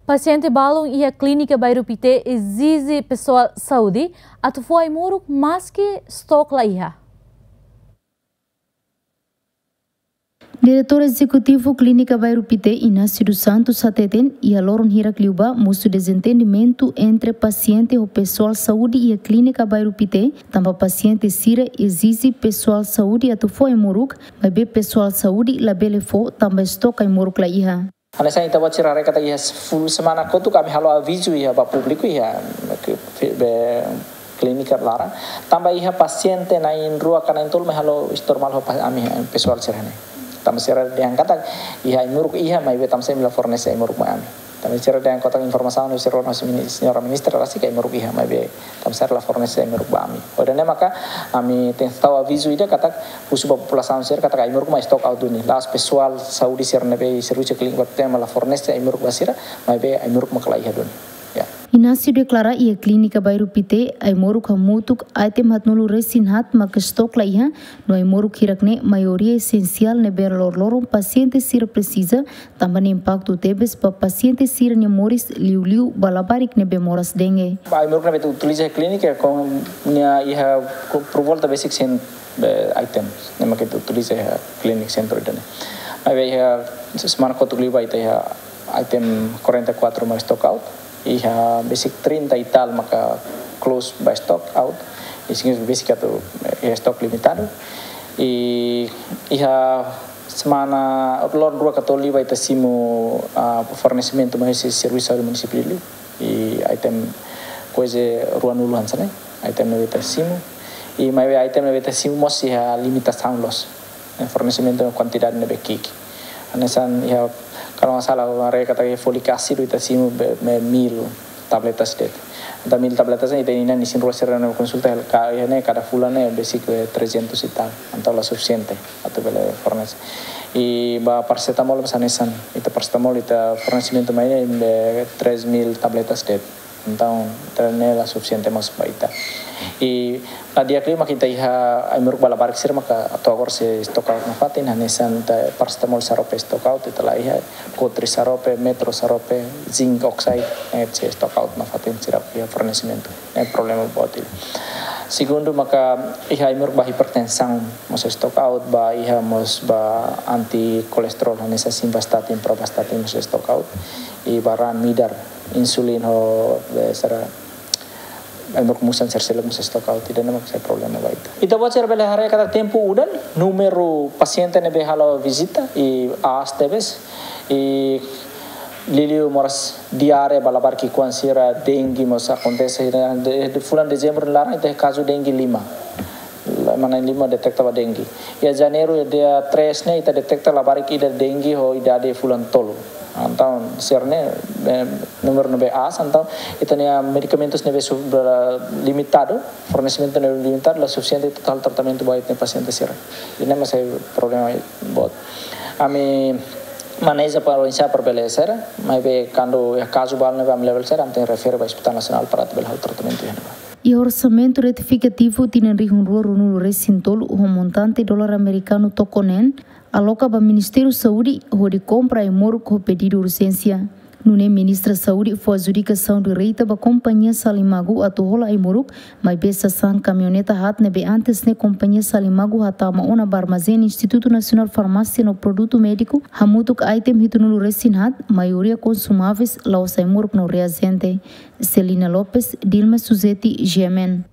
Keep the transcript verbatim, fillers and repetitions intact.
Pasiente balun iha Klínika Bairru Pité ezije pesoál saúde atu fó ai-moruk maski stok la iha. Diretór Ezekutivu Klínika Bairru Pité, Inácio dos Santos, hateten, iha loron hirak liubá mosu dezentendimentu entre pasiente ho pesoál saúde iha Klínika Bairru Pité, tanba pasiente sira ezije pesoál saúde atu fó ai-moruk, maibé pesoál saúde labele fó tanba stok ai-moruk la iha. Hanesan ita-boot sira haree katak iha full semana kotuk ami halo avizu iha ba públiku iha ke, be, klínika laran. Tanba iha pasiente na'in-rua ka na'in-tolu mai halo istormal ho pa-, ami, eh, pesoál sira-ne'e. Tanba sira dehan katak iha ai-moruk iha maibé tanba sá imi la fornese ai-moruk mai ami. Tanba sira dehan katak informasaun ne'e sira no mini-, señora ministra la sika ai-moruk iha maibé tanba sá la fornese ai-moruk ba ami. Hodi nune'e maka ami tenke tau avizu ida katak husu ba populasaun sira katak ai-moruk mai stok out duni. La'ós pesoál saúde sira ne'ebé servisu klínika ba tema la fornese ai-moruk ba sira, maibé ai-moruk maka la iha duni. Ya. Inácio deklara iha Klínika Bairru Pité ai-moruk hamutuk item haatnulu-resin-haat maka stok la iha, no ai-moruk hirak-ne'e maioria esensiál ne'ebé loroloron pasiente sira presiza, tanba nia impaktu tebes ba pasiente sira-nia moris liuliu ba labarik ne'ebé moras dengue. Ba ai-moruk ne'ebé ita utiliza iha klínika katak nia iha por volta besik cem, eh, item ne'ebé ita utiliza iha klínika sentru ida-ne'e. Maibé iha semana kotuk liubá ita iha item quarenta e quatro maka stok out, iha besik trinta e tal maka close ba stok out, i signifika besik atu, eh, stok limitadu. I iha semana, loron rua ka tolu liubá ita simu, ah, fornesimentu mai husi servisu saúde munisípiu Dili. I item kuaze ruanulu hanesan ne'e, item ne'ebé ita simu. I maibé item ne'ebé ita simu mós iha limitasaun loos. Eh, fornesimentu kuantidade ne'ebé ki'ik. Hanesan iha, kalau nggak salah, haree katak iha fóliku ásidu ita simu be, be mil tabletas de'it. Entaun mil tabletas ne'e ita inan isin-rua sira-ne'e konsulta hela ka, iha ne'e kada fulan ne'e besik, eh, trezentos e tal. Entaun la sufisiente atu bele fornese. I ba parasetamol mós hanesan, ita parasetamol ita fornesimentu mai ne'e be três mil tabletas de'it. Entaun, ida-ne'e la sufisiente mós ba ita. I la di'ak liu maka ita iha ai-moruk ba labarik sira maka atu agora sei stok out nafatin, hanesan ita parasetamol xarope stok out, ita la iha, kotri xarope, metro xarope, zinc oxide, ne'e sei stok out nafatin sira iha fornesimentu. Ne'e problema boot ida. Segundu maka iha ai-moruk ba hipertensaun mós stok out, ba iha mós ba anti-kolesterol, hanesan simvastatin, pravastatin mós stok out. I ba raan midar, insulin ho, be, sira, ai-moruk musan sira seluk mós stok out, ida-ne'e maka sai problema ba ita. Ita-boot sira bele haree katak tempu udan, númeru pasiente ne'ebé halo vizita i aas tebes, i liuliu moras diare ba labarik ki'ikoan sira, dengue mós akontese, de, de, fulan Dezembru nia laran ita kazu dengue lima. Ema na'in-lima deteta ba dengue. Iha Janeiru dia três ne'e ita deteta labarik ida dengue ho idade fulan tolu. Entaun, sira-ne'e, eh, númeru ne'ebé aas, entaun ita-nia medikamentus ne'ebé su-, be, limitadu, fornesimentu ne'ebé limitadu, la sufisiente ita halo tratamentu ba ita-nia pasiente sira. Ida-ne'e mós sai problema boot. Ami maneja para oinsá para bele sera, maibé kuandu iha kazu balu ne'ebé ami labele sera, ami tenke refere ba Hospital Nasionál para atu bele halo tratamentu iha ne'ebá. Iha orsamentu retifikativu tinan rihun rua ruanulu-resin-tolu ho montante dolar amerikanu toko neen, aloka ba Ministériu Saúde hodi kompra ai-moruk ho pedidu urjénsia. Nune'e Ministra Saúde fó adjudikasaun direta ba kompañia Salimagu atu hola ai-moruk, maibé sasán kamioneta haat ne'ebé antes ne'e kompañia Salimagu hatama ona ba armazén Institutu Nasionál Farmásia no Produtu Médiku, hamutuk item hitunulu-resin-haat, maioria konsumáveis, la'ós ai-moruk no reajente. Celina Lopes, Dilma Suzeti, G M N.